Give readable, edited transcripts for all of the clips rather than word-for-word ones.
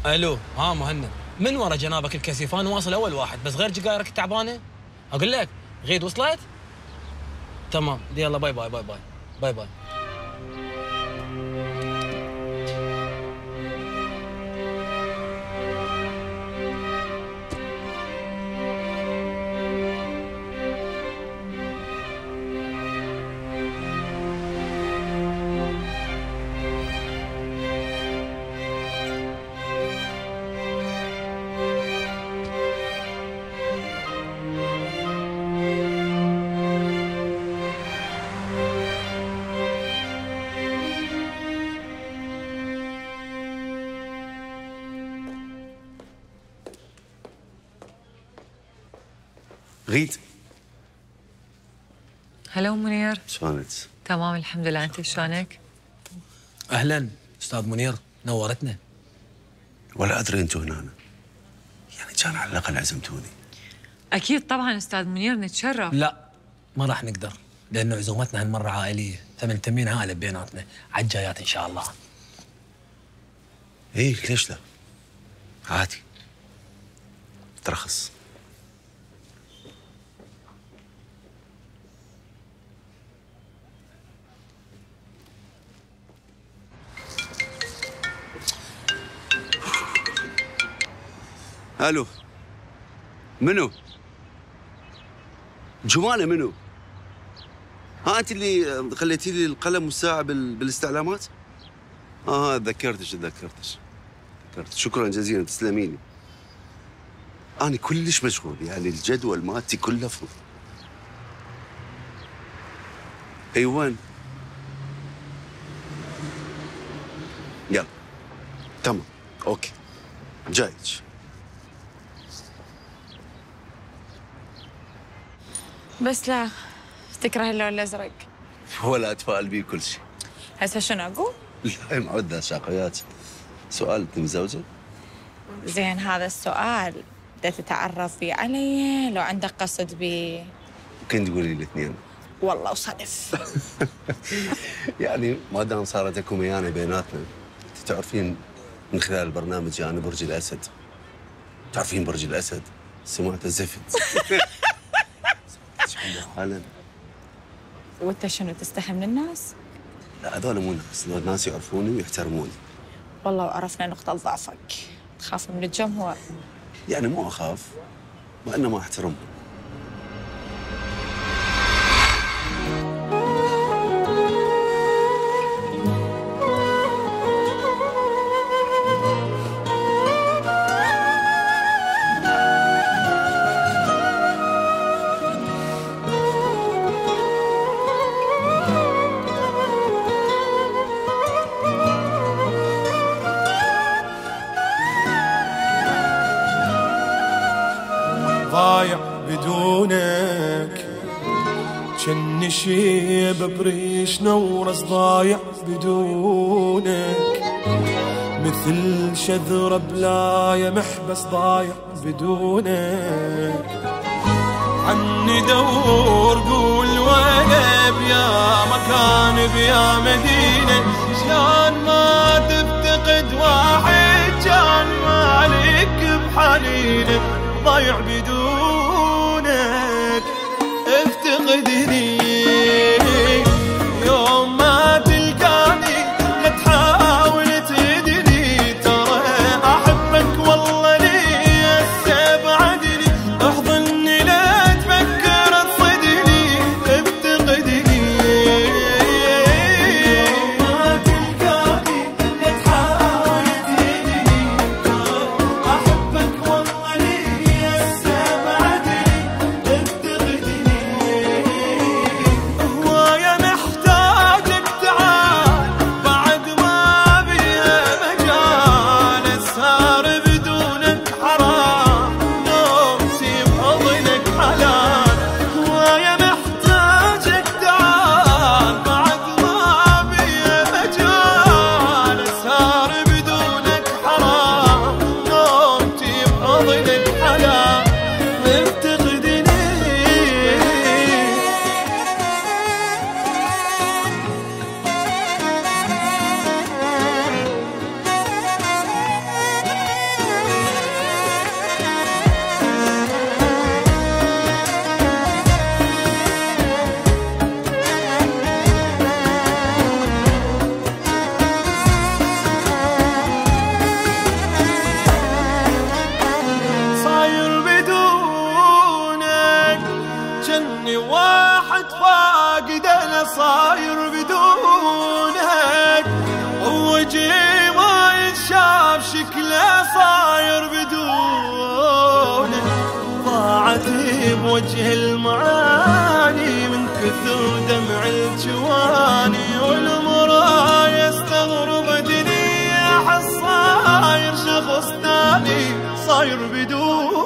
الو، ها مهند، من ورا جنابك الكسيفان واصل اول واحد، بس غير جقايرك التعبانه. اقول لك غيد وصلت؟ تمام، يلا باي باي باي باي باي باي. غيد. هلو منير. شلونك؟ تمام الحمد لله، انت شلونك؟ اهلا استاذ منير، نورتنا. ولا ادري انتم هنا، يعني كان على الاقل عزمتوني. اكيد طبعا استاذ منير، نتشرف. لا ما راح نقدر، لانه عزومتنا هالمره عائليه، فمنتمين عائله بيناتنا، على الجايات ان شاء الله. ايه ليش لا؟ عادي، ترخص. الو، منو؟ جمانة منو؟ ها انت اللي خليتي لي القلم والساعة بالاستعلامات؟ تذكرتك. شكرا جزيلا، تسلمي لي. انا كلش مشغول، يعني الجدول مالتي كله فل. اي وين؟ يلا تمام، اوكي، جايك. بس لا تكره اللون الازرق. ولا اتفائل بيه كل شيء. هسه شنو اقول؟ لا معودة شاقيات. سؤال، انت متزوجة؟ زين، هذا السؤال بدك تتعرف فيه علي لو عندك قصد بيه؟ ممكن تقولي لي الاثنين. والله وصدف. يعني ما دام صارت اكو ميانه بيناتنا، انت تعرفين من خلال البرنامج انا برج الاسد. تعرفين برج الاسد؟ سمعت الزفت. حالا. وانت شنو تستحي من الناس؟ لا هذول مو ناس، الناس يعرفوني ويحترموني. والله وعرفنا نقطة ضعفك، تخاف من الجمهور. يعني مو اخاف، وانما احترمهم. ضايع بدونك، جني شيب بريش نورس ضايع بدونك، مثل شذرة بلاية محبس ضايع بدونك. عني دور قول وين بيا مكان بيا مدينة، شلون ما تفتقد واحد كان مالك بحنينه. ضايع بدونك افتقدني، يوم ما تلقاني لا تحاول تهدني، ترى احبك والله لي هسه بعدني، احضني لا تفكر تصدني افتقدني، يوم ما تلقاني لا تحاول تهدني، ترى احبك والله لي هسه بعدني افتقدني. هواية محتاجك تعال بعد ما بيها مجال، اسهر بدونك حرام نومتي بحضنك حلال. هواية محتاجك تعال بعد ما بيها مجال، اسهر بدونك حرام نومتي بحضنك حلال. فاقد انا صاير بدونك، ووجهي ما يتشاف شكله صاير بدونك، ضاعت بوجه المعاني من كثر دمع الجواني، والمرايا استغربتني احس صاير شخص ثاني صاير بدونك.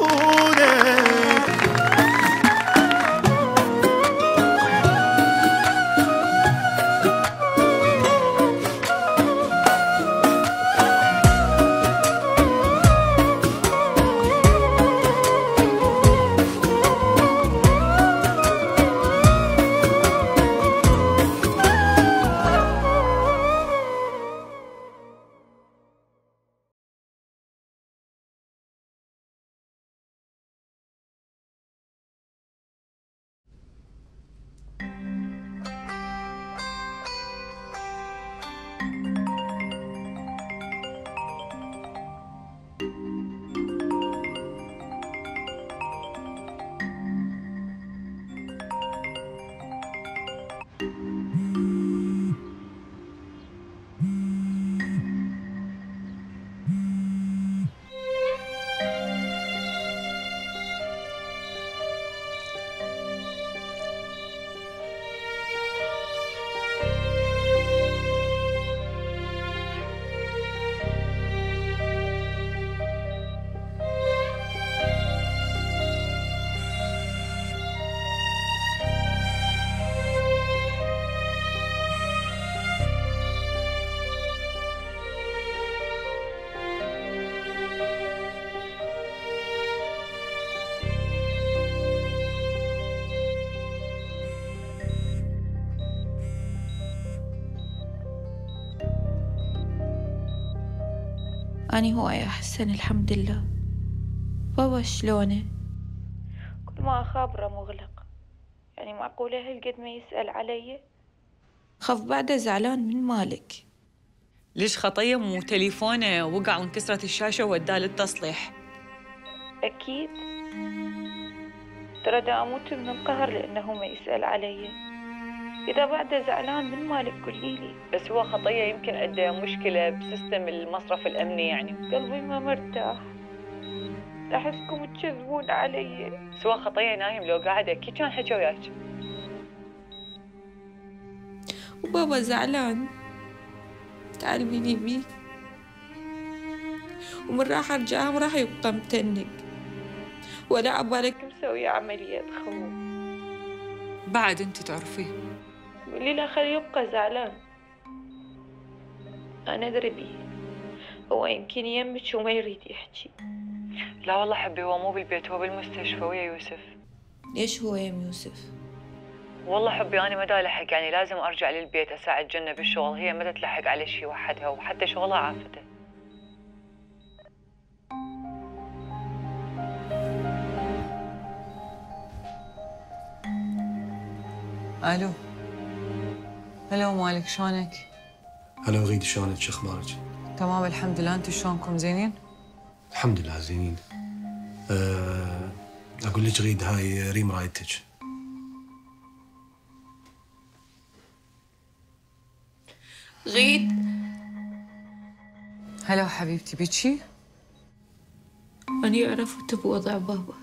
أني هواية أحسن الحمد لله. بابا شلونه؟ كل ما أخابره مغلق، يعني معقولة هالقد ما يسأل علي؟ خف بعده زعلان من مالك. ليش خطية مو تليفونه وقع وانكسرت الشاشة ووداه للتصليح؟ أكيد، ترى دا أموت من القهر لأنه ما يسأل علي. إذا بعده زعلان من مالك قوليلي. بس هو خطية يمكن عنده مشكلة بسيستم المصرف الأمني يعني. قلبي ما مرتاح، أحسكم تكذبون علي. بس هو خطية نايم، لو قاعد أكيد كان حكى وياك. وبابا زعلان، تعال بيني بيه، ومن راح أرجع راح يبقى متنق، ولا عبالك مسوي عملية خوف. بعد أنت تعرفيه. قولي له خليه يبقى زعلان، أنا أدري بيه، هو يمكن يمك وما يريد يحكي. لا والله حبي، هو مو بالبيت، هو بالمستشفى ويا يوسف. ليش هو يم يوسف؟ والله حبي أنا ما دا لحق، يعني لازم أرجع للبيت أساعد جنة بالشغل، هي ما تلحق على شي وحدها، وحتى شغلها عافته. ألو. هلو مالك، شلونك؟ هلا وغيد، شلونك؟ شو اخبارك؟ تمام الحمد لله، انتم شلونكم؟ زينين؟ الحمد لله زينين. اقول لك غيد، هاي ريم رايتك. غيد. هلا حبيبتي، بيتشي؟ أنا عرفت بوضع بابا.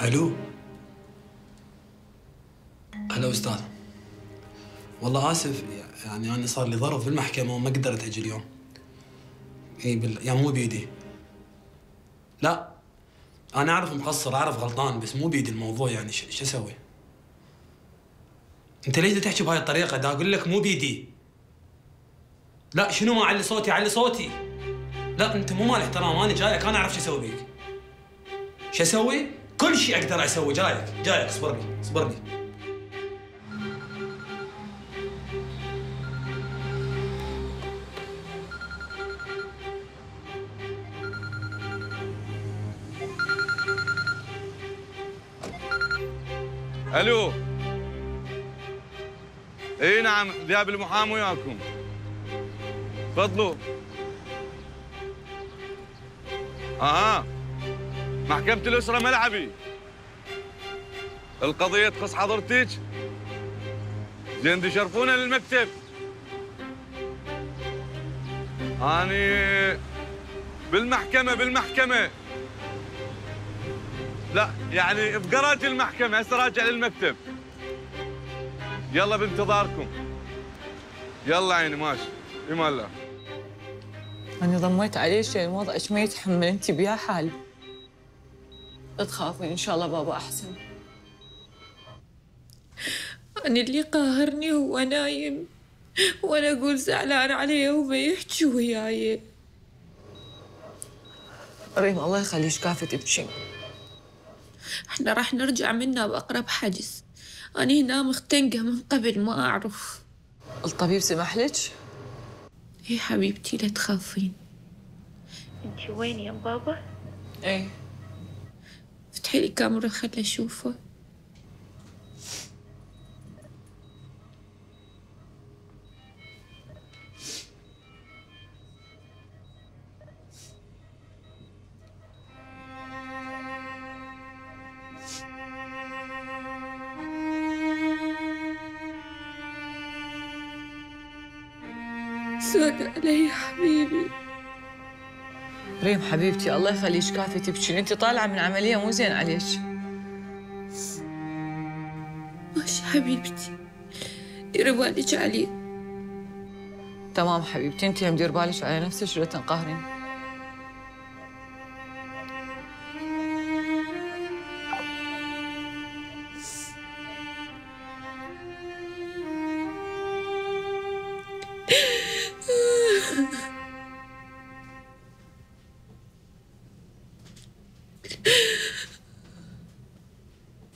الو. هلا استاذ، والله اسف، يعني انا صار لي ظرف بالمحكمه وما قدرت اجي اليوم. يعني مو بيدي. لا انا اعرف مقصر، اعرف غلطان، بس مو بيدي الموضوع، يعني شو اسوي؟ انت ليش تحكي بهاي الطريقه؟ دا اقول لك مو بيدي. لا شنو ما اعلي صوتي؟ علي صوتي. لا انت مو مال احترام، انا جايك انا اعرف شو اسوي بيك. شو اسوي؟ كل شيء اقدر اسوي. جايك اصبرني اصبرني. الو. اي نعم، ذياب المحامي وياكم. تفضلوا. محكمة الأسرة ملعبي. القضية تخص حضرتك. زين تشرفونا للمكتب. أني بالمحكمة. لا يعني بقرات المحكمة، هسه راجع للمكتب. يلا بانتظاركم. يلا عيني ماشي. امان الله. أنا ضميت عليه شيء الوضع إيش ما يتحمل، أنت بيا حال. لا تخافين إن شاء الله بابا أحسن. أنا اللي قاهرني هو نايم وأنا أقول زعلان عليه وما يحكي وياي. ريم الله يخليش كافة تبكي. احنا راح نرجع منها بأقرب حجز. أنا هنا مختنقة من قبل ما أعرف. الطبيب سمح لك؟ إيه حبيبتي لا تخافين. انتي وين يا بابا؟ ايه افتحي لي كاميرا خلي أشوفه. سود علي يا حبيبي. ريم حبيبتي الله يخليش كافي تبكين، انت طالعه من عمليه مو زين عليك. ماشي حبيبتي، ديري بالك عليه. تمام حبيبتي، انت هم دير بالك على نفسك ولا تنقهرين.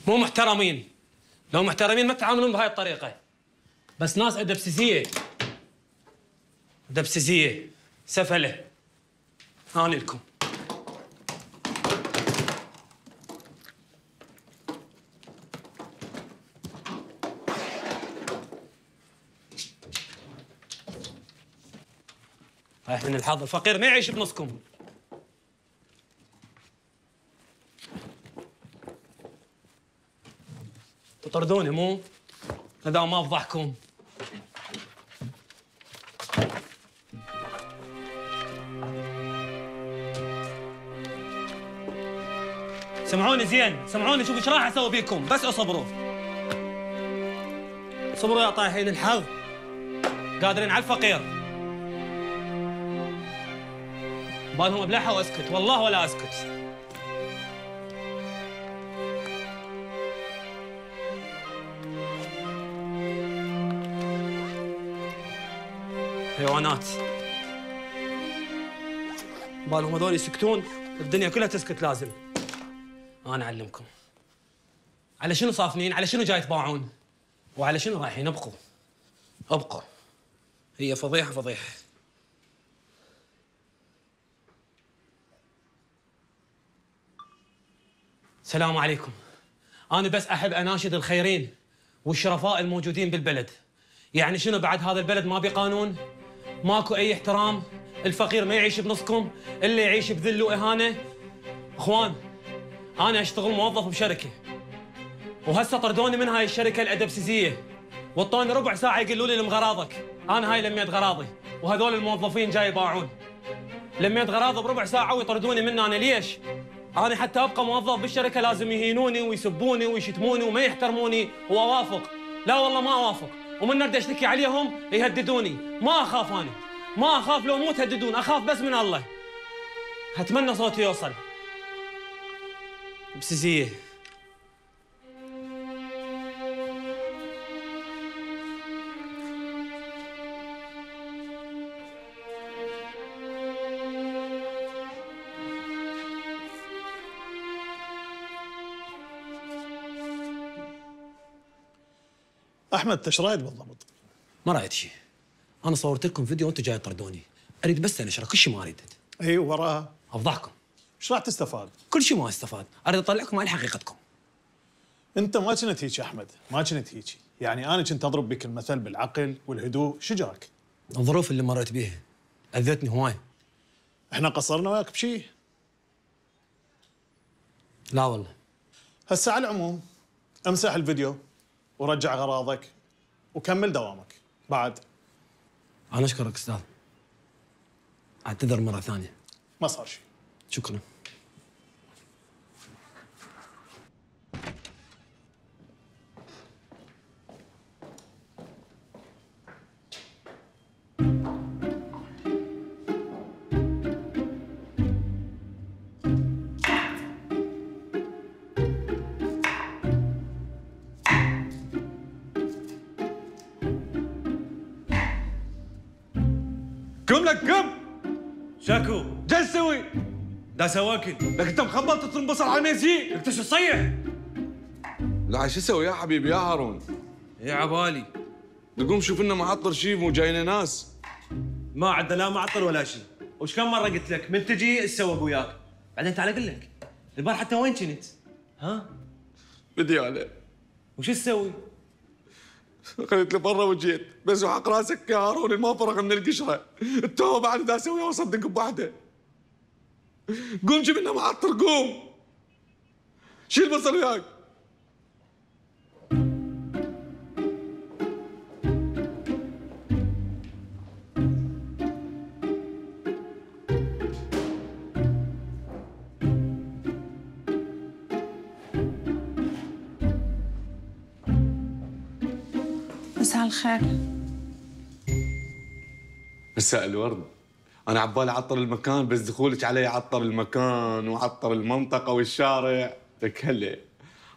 مو محترمين. لو محترمين ما تتعاملون بهاي الطريقة. بس ناس أدبسيسية. أدبسيسية سفلة. هاني لكم. رايح من الحظ، الفقير ما يعيش بنصكم. تطردوني مو؟ إذا ما أفضحكم. سمعوني زين، سمعوني شوفوا ايش راح اسوي بيكم، بس اصبروا. صبروا يا طايحين الحظ. قادرين على الفقير. بالهم ابلعها واسكت، والله ولا اسكت. حيوانات. بالهم هذول يسكتون، الدنيا كلها تسكت لازم. أنا أعلمكم. على شنو صافنين؟ على شنو جاي تباعون؟ وعلى شنو رايحين؟ ابقوا. ابقوا. هي فضيحة فضيحة. السلام عليكم. أنا بس أحب أناشد الخيرين والشرفاء الموجودين بالبلد. يعني شنو بعد هذا البلد ما بقانون؟ ماكو أي احترام؟ الفقير ما يعيش بنصكم؟ اللي يعيش بذل وإهانة؟ إخوان، أنا أشتغل موظف بشركة، وهسه طردوني من هاي الشركة الأدبسيسية، وطوني ربع ساعة يقولوا لي لم غراضك. أنا هاي لميت غراضي، وهذول الموظفين جاي يباعون. لميت غراضي بربع ساعة ويطردوني مني. أنا ليش؟ أنا حتى أبقى موظف بالشركة لازم يهينوني ويسبوني ويشتموني وما يحترموني وأوافق. لا والله ما أوافق، ومن نرد أشتكي عليهم يهددوني. ما أخاف أنا، ما أخاف لو مو تهددون، أخاف بس من الله. أتمنى صوتي يوصل. بسيسية. احمد انت ايش رايد بالضبط؟ ما رايت شيء. انا صورت لكم فيديو وانتم جاي تطردوني. اريد بس انشره، كل شيء ما اريد. اي وراها؟ افضحكم. ايش راح تستفاد؟ كل شيء ما استفاد، اريد اطلعكم على حقيقتكم. انت ما كنت هيك يا احمد، ما كنت هيك. يعني انا كنت اضرب بك المثل بالعقل والهدوء، شو جراك؟ الظروف اللي مريت بيها اذتني هواي. احنا قصرنا وياك بشيء؟ لا والله. هسه على العموم امسح الفيديو ورجع اغراضك وكمل دوامك. بعد انا اشكرك استاذ. اعتذر مره ثانيه. ما صار شيء. شكرا. قم لك قم. شاكو جاي تسوي؟ دا سواكل. لك انت مخبط تطرم بصل على الميزي. انت شو تصيح؟ لا شو اسوي يا حبيبي يا هارون؟ يا عبالي نقوم شوف لنا معطر شيء مو جاينا ناس. ما عندنا لا معطل ولا شيء. وش كم مره قلت لك من تجي تسوق وياك. بعدين تعال اقول لك البارحه انت وين كنت؟ ها؟ بدي عليه. وش تسوي؟ خليت لبرا وجيت بس وحق راسك يا هارون ما فرغ من القشره. التوه بعد دا اسويها واصدق بواحده. قوم جيب لنا معطر قوم. شيل بصل وياك. مساء الخير. مساء الورد. أنا عبالي أعطر المكان بس دخولك علي عطر المكان وعطر المنطقة والشارع. لك هلا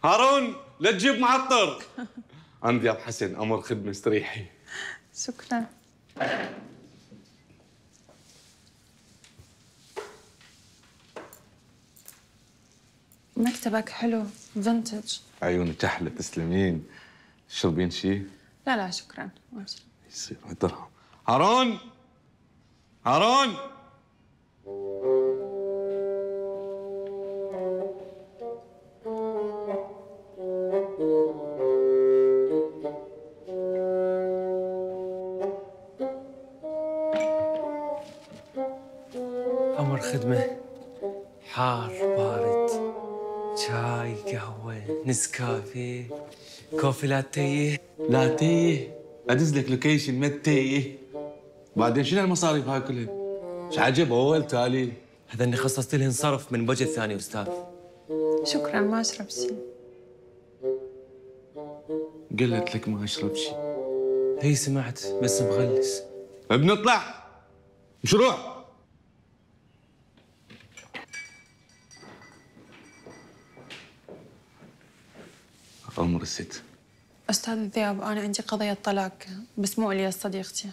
هارون لا تجيب معطر. أنا دياب حسن أمر خدمة استريحي. شكرا. مكتبك حلو فينتج. عيونك أحلى تسلمين. تشربين شيء؟ لا لا شكرا ما أشرب. يصير درهم. هارون هارون أمر خدمة. حار بارد شاي قهوة نسكافيه كوفي لاتيه. لاتيه أدز لك لوكيشن متيه. بعدين شنو المصاريف هاي كلها؟ ايش عجب اول تالي؟ هذا اللي خصصت له انصرف من وجه الثاني استاذ. شكرا ما أشرب شيء. قلت لك ما اشرب شيء. هي سمعت بس مغلس. بنطلع مشروع. أمر الست. أستاذ ذياب أنا عندي قضية طلاق بس مو إلياس صديقتي.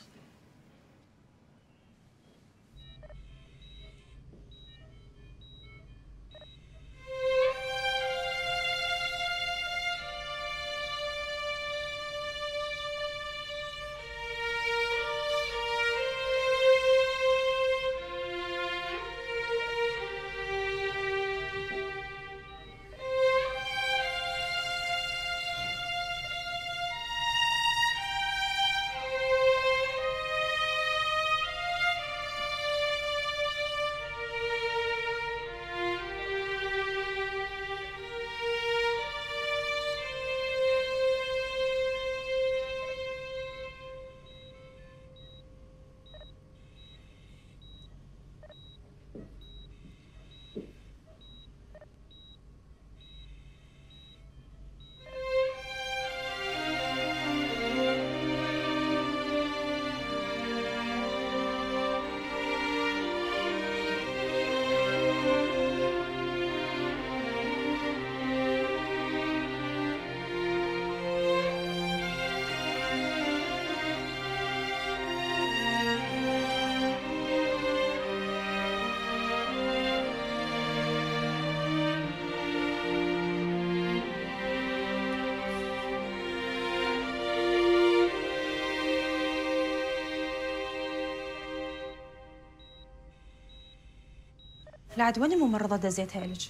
لعد وين الممرضة دزيتها إلك؟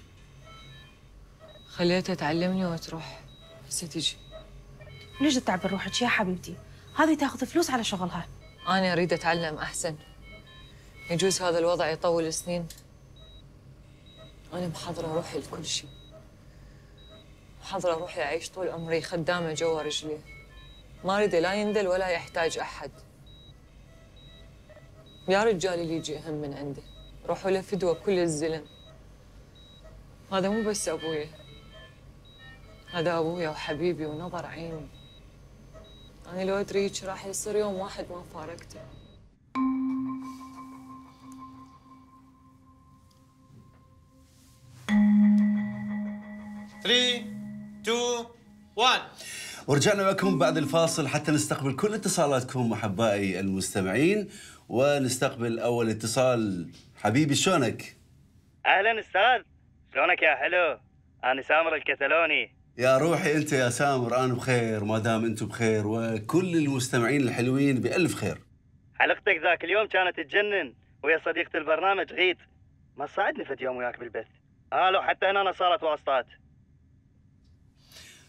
خليتها تعلمني وتروح، هسه تجي. ليش تتعبي روحك يا حبيبتي؟ هذه تاخذ فلوس على شغلها. أنا أريد أتعلم أحسن. يجوز هذا الوضع يطول سنين. أنا محضرة روحي لكل شيء. محضرة روحي أعيش طول عمري خدامة جوا رجلي. ما أريد لا يندل ولا يحتاج أحد. يا رجال اللي يجي أهم من عنده، روحوا له فدوة كل الزلم. هذا مو بس أبويا، هذا أبويا وحبيبي ونظر عيني. أنا لو أدري هيك راح يصير يوم واحد ما فارقته. ثري تو 1. ورجعنا لكم بعد الفاصل حتى نستقبل كل اتصالاتكم احبائي المستمعين، ونستقبل اول اتصال. حبيبي شلونك؟ اهلا استاذ، شلونك يا حلو؟ انا سامر الكتالوني. يا روحي انت يا سامر، انا بخير ما دام انتم بخير، وكل المستمعين الحلوين بألف خير. حلقتك ذاك اليوم كانت تجنن ويا صديقة البرنامج غيد، ما صعدني فد يوم وياك بالبث. لو حتى هنا صارت واسطات.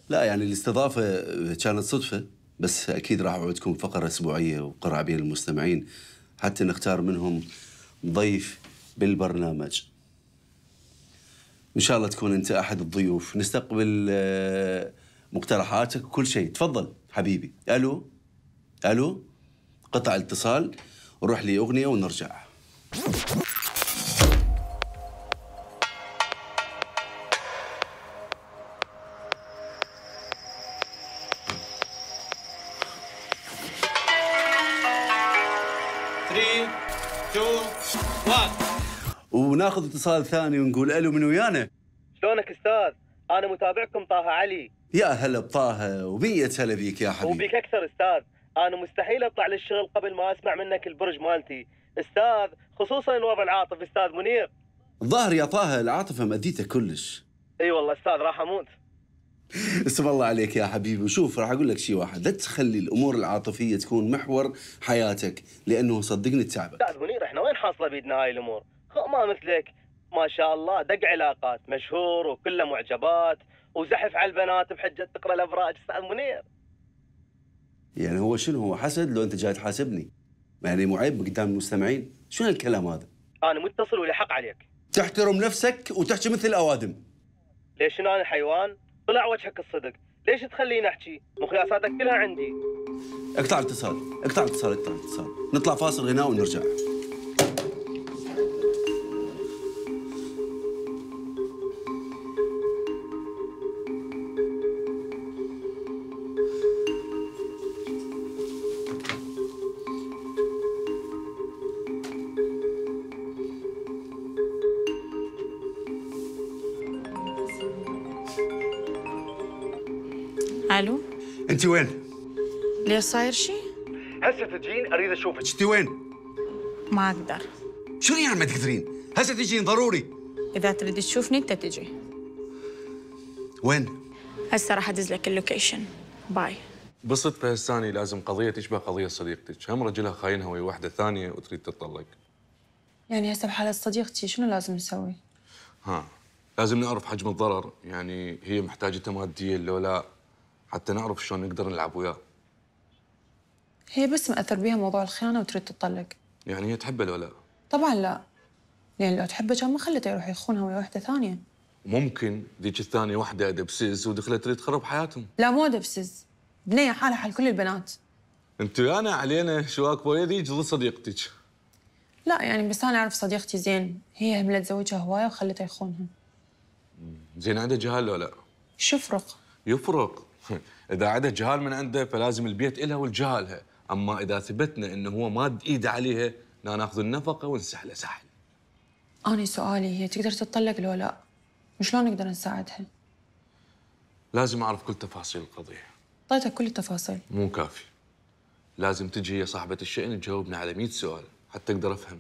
لا يعني الاستضافة كانت صدفة، بس أكيد راح أوعدكم فقرة أسبوعية وقرعة بين المستمعين حتى نختار منهم ضيف بالبرنامج. إن شاء الله تكون أنت أحد الضيوف، نستقبل مقترحاتك وكل شيء. تفضل حبيبي. ألو ألو، قطع الاتصال وروح لي أغنية ونرجع. وناخذ اتصال ثاني ونقول الو، من ويانا؟ شلونك استاذ؟ انا متابعكم طه علي. يا هلا بطه، وبية هلا بيك يا حبيبي. وبيك اكثر استاذ، انا مستحيل اطلع للشغل قبل ما اسمع منك البرج مالتي استاذ، خصوصا الوضع العاطفي استاذ منير. الظاهر يا طه العاطفه مأديته كلش. اي والله استاذ راح اموت. اسم الله عليك يا حبيبي. وشوف راح اقول لك شيء واحد، لا تخلي الامور العاطفيه تكون محور حياتك، لانه صدقني تعبك. استاذ منير احنا وين حاصله بيدنا هاي الامور؟ ما مثلك ما شاء الله دق علاقات، مشهور وكله معجبات وزحف على البنات بحجه تقرا الابراج استاذ منير. يعني هو شنو، هو حسد لو انت جاي تحاسبني؟ يعني مو عيب قدام المستمعين؟ شنو هالكلام هذا؟ انا متصل ولي حق عليك. تحترم نفسك وتحكي مثل الاوادم. ليش انا حيوان؟ طلع وجهك الصدق، ليش تخليني احكي؟ مقياساتك كلها عندي. اقطع الاتصال، اقطع الاتصال، اقطع الاتصال، نطلع فاصل غناء ونرجع. الو، انت وين؟ ليش صاير شيء؟ هسه تجين اريد اشوفك. انت وين؟ ما اقدر. شنو يعني ما تقدرين؟ هسه تجين ضروري. اذا تريد تشوفني انت تجي. وين؟ هسه راح ادز لك اللوكيشن. باي. بصت بهالثاني لازم قضيه تشبه قضيه صديقتك، هم رجلها خاينها ويا واحده ثانيه وتريد تتطلق. يعني هسه بحالة صديقتي شنو لازم نسوي؟ لازم نعرف حجم الضرر، يعني هي محتاجته ماديا لو لا، حتى نعرف شلون نقدر نلعب وياه. هي بس مأثر بيها موضوع الخيانة وتريد تطلق. يعني هي تحبه لو لا؟ طبعا لا، لأن لو تحبه كان ما خلته يروح يخونها ويا واحدة ثانية. ممكن ذيك الثانيه واحده دبسيس ودخلت تريد تخرب حياتهم. لا مو دبسز، بنية حالها حال كل البنات. انت ويانا علينا شواك بويا ذيك ضد صديقتك. لا يعني بس أنا أعرف صديقتي زين، هي هملت زوجها هواية وخلته يخونها. زين عنده جهال لو لا؟ شو يفرق؟ يفرق. اذا عنده جهال من عنده فلازم البيت إلها والجهالها، اما اذا ثبتنا انه هو ماد ايده عليها ناخذ النفقه ونسحله سحل. أنا سؤالي هي تقدر تتطلق لو لا؟ وشلون نقدر نساعدها؟ لازم اعرف كل تفاصيل القضيه. اعطيتك كل التفاصيل. مو كافي، لازم تجي هي صاحبه الشأن تجاوبنا على 100 سؤال حتى اقدر افهم.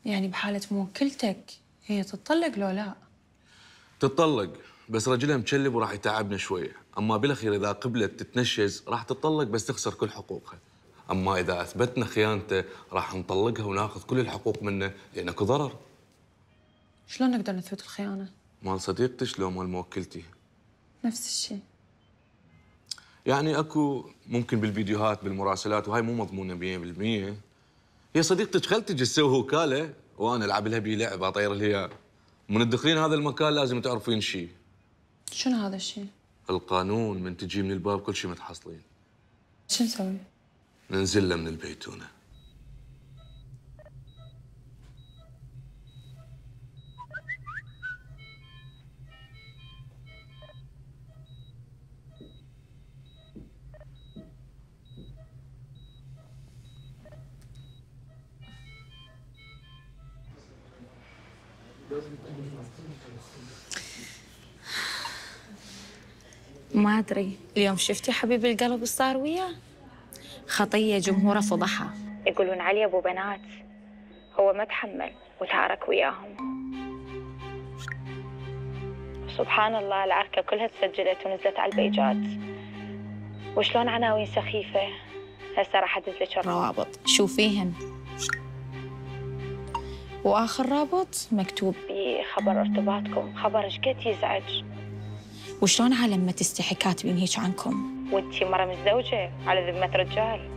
يعني بحالة موكلتك هي تتطلق لو لا؟ تتطلق، بس رجلها مكلب وراح يتعبنا شويه، اما بالاخير اذا قبلت تتنشز راح تتطلق بس تخسر كل حقوقها. اما اذا اثبتنا خيانته راح نطلقها وناخذ كل الحقوق منه لان اكو ضرر. شلون نقدر نثبت الخيانة؟ مال صديقتك لو مال موكلتي؟ نفس الشيء. يعني اكو ممكن بالفيديوهات بالمراسلات وهاي مو مضمونه 100%. هي صديقتك خلتك تسوي وكاله وانا العب لها بيه لعبه اطير لها. من تدخلين هذا المكان لازم تعرفين شيء. شنو هذا الشيء؟ القانون من تجي من الباب كل شيء متحصلين. شو نسوي؟ ننزل له من البيتونه. ما أدري اليوم شفتي حبيب القلب ايش صار وياه؟ خطية جمهوره فضحها، يقولون علي أبو بنات. هو ما تحمل وتعارك وياهم. سبحان الله العركة كلها تسجلت ونزلت على البيجات. وشلون عناوين سخيفة. هسه راح أدز لك الروابط شوفيهن. وآخر رابط مكتوب بخبر ارتباطكم، خبر ايش قد يزعج. وشلون عالم ما تستحي كاتبين هيك عنكم؟ وانتي مرة متزوجة على ذمة رجال.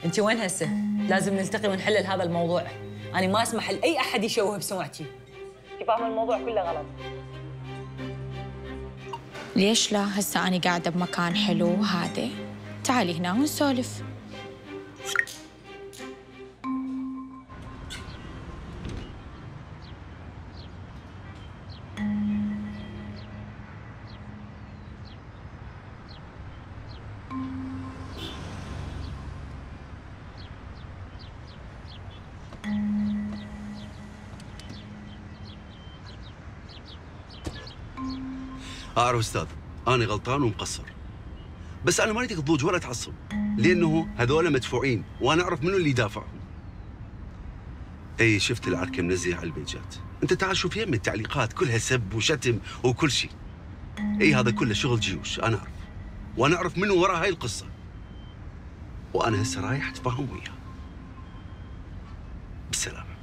انت وين هسه؟ لازم نلتقي ونحلل هذا الموضوع. انا ما اسمح لاي احد يشوه بسمعتي. انت فاهمه الموضوع كله غلط. ليش لا؟ هسه أنا قاعدة بمكان حلو وهادئ. تعالي هنا ونسولف. أعرف أستاذ، أنا غلطان ومقصر. بس أنا ما أريدك تضوج ولا تعصب، لأنه هذول مدفوعين وأنا أعرف منو اللي يدافعهم. أي شفت العركة منزلة على البيجات، أنت تعال شوف يم التعليقات كلها سب وشتم وكل شيء. أي هذا كله شغل جيوش، أنا أعرف. وأنا أعرف منو وراء هاي القصة. وأنا هسه رايح أتفاهم وياه. بالسلامة.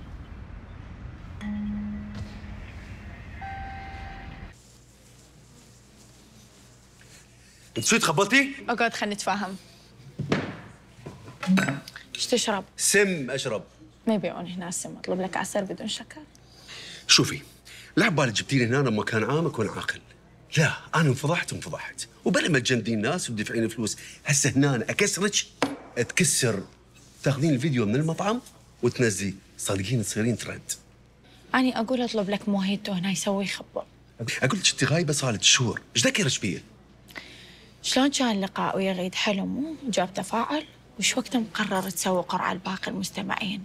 انت شو تخبلتي؟ اقعد خلينا نتفاهم. ايش تشرب؟ سم اشرب. ما يبيعون هنا السم، اطلب لك عسل بدون شكر. شوفي، لا عبالك جبتيني هنا لما كان عامك وانا عاقل. لا، انا انفضحت وبلا ما تجندين الناس وتدفعين فلوس، هسه هنا اكسرك تكسر، تاخذين الفيديو من المطعم وتنزليه، صادقين تصيرين ترند. أنا أقول أطلب لك موهيتو هنا يسوي يخبر. أقول لك أنت غايبة صارت شهور، إيش ذكرك بيه؟ شلون كان اللقاء ويا غيد؟ حلو مو؟ جاب تفاعل؟ وش وقت مقرر تسوي قرعة لباقي المستمعين؟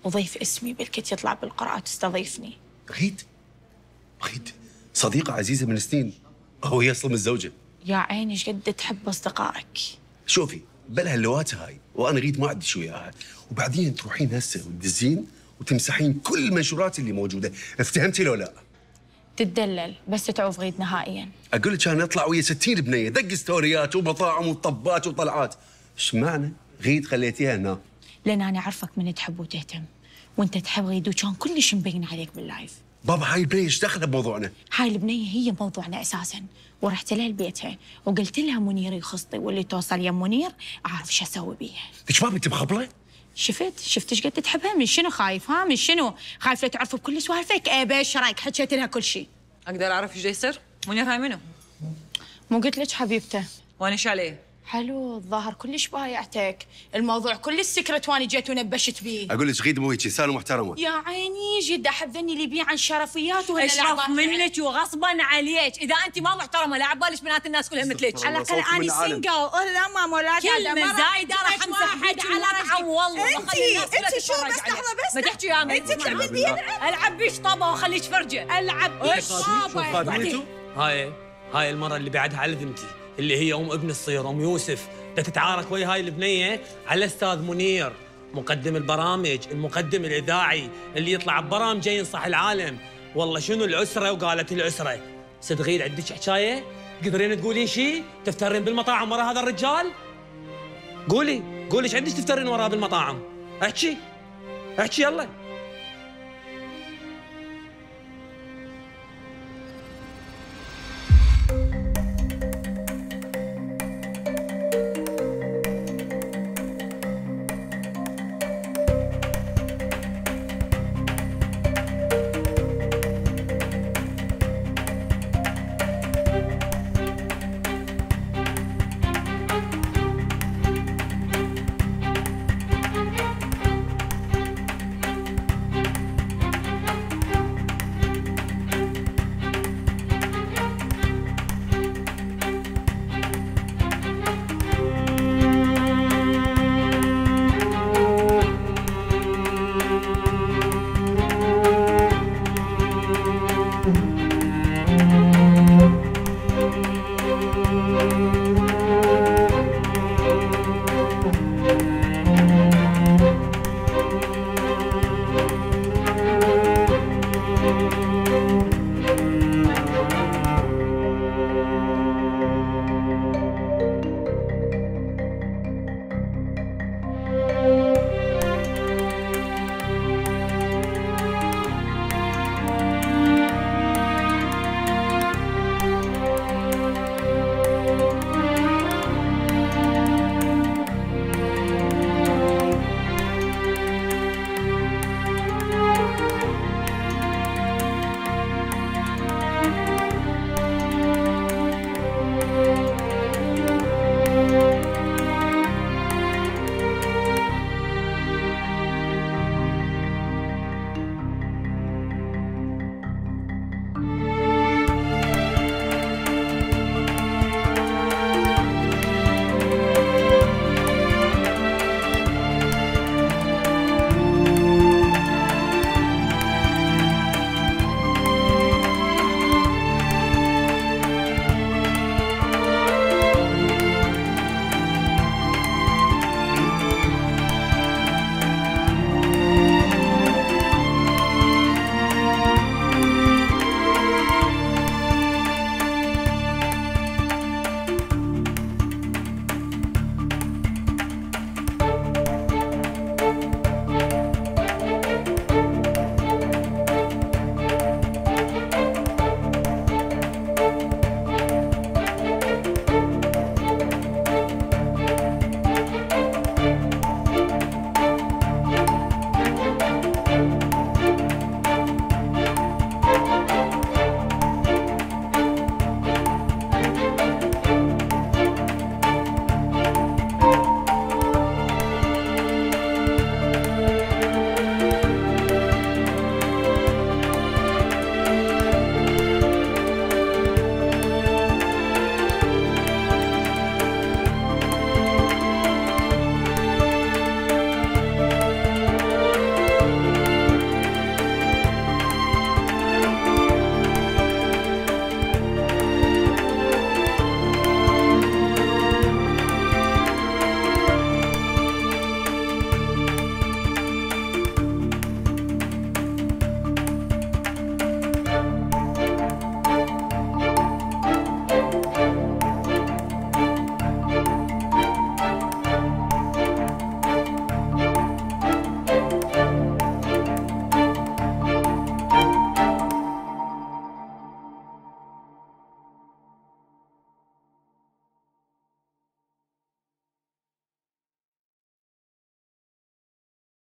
وضيف اسمي بلكت يطلع بالقرعة وتستضيفني. غيد صديقة عزيزة من سنين، هو هي أصلا متزوجة. يا عيني ايش قد تحب أصدقائك. شوفي، بلا هاللواتة هاي، وأنا غيد ما عندي شو وياها، وبعدين تروحين هسه وتدزين وتمسحين كل المنشورات اللي موجودة، افتهمتي لو لا؟ تتدلل بس تعوف غيد نهائيا. اقول لك انا اطلع ويا 60 بنيه، دق ستوريات ومطاعم وطبات وطلعات، ايش معنى غيد خليتيها هنا؟ لان انا اعرفك من تحب وتهتم، وانت تحب غيد وكان كلش مبين عليك باللايف. بابا هاي البنيه ايش دخلها بموضوعنا؟ هاي البنيه هي موضوعنا اساسا، ورحت لها لبيتها وقلت لها منير يخصطي، واللي توصل يم منير اعرف شو اسوي بيها. ليش ما انت مخبله؟ شفت ايش قد تحبها؟ من شنو خايف؟ ها من شنو؟ خايف لا تعرف بكل سوالفك؟ ايش رايك حكيت لها كل شيء؟ اقدر اعرف ايش يصير؟ منير هاي منو؟ مو قلت لك حبيبته؟ وانا ايش عليه؟ حلو، الظاهر كلش بايعتك، الموضوع كل السكرت وانا جيت ونبشت بيه. اقول لك غيد مو هيك، انسانه محترمه. يا عيني جد احب ذني اللي يبيع عن شرفيات اشرف منك وغصبا عليك، اذا انت ما محترمه لا عبالك بنات الناس كلها مثلك. على الاقل اني سنجل، لا ماما ولا كلمه زايده راح امسح بيك المطعم والله. انت شو بس لحظه بس ما تحكي يا انت تلعبين بي. العب بيش طابه واخليك فرجه. العب بيش طابه. هاي المره اللي بعدها على ذمتي، اللي هي ام ابن الصغير ام يوسف، تتعارك ويا هاي البنيه على استاذ منير، مقدم البرامج، المقدم الاذاعي اللي يطلع ببرامج ينصح العالم. والله شنو العسره وقالت العسره، صدقين عندك حكايه؟ تقدرين تقولين شيء؟ تفترين بالمطاعم ورا هذا الرجال؟ قولي ايش عندك تفترين وراه بالمطاعم؟ احكي يلا.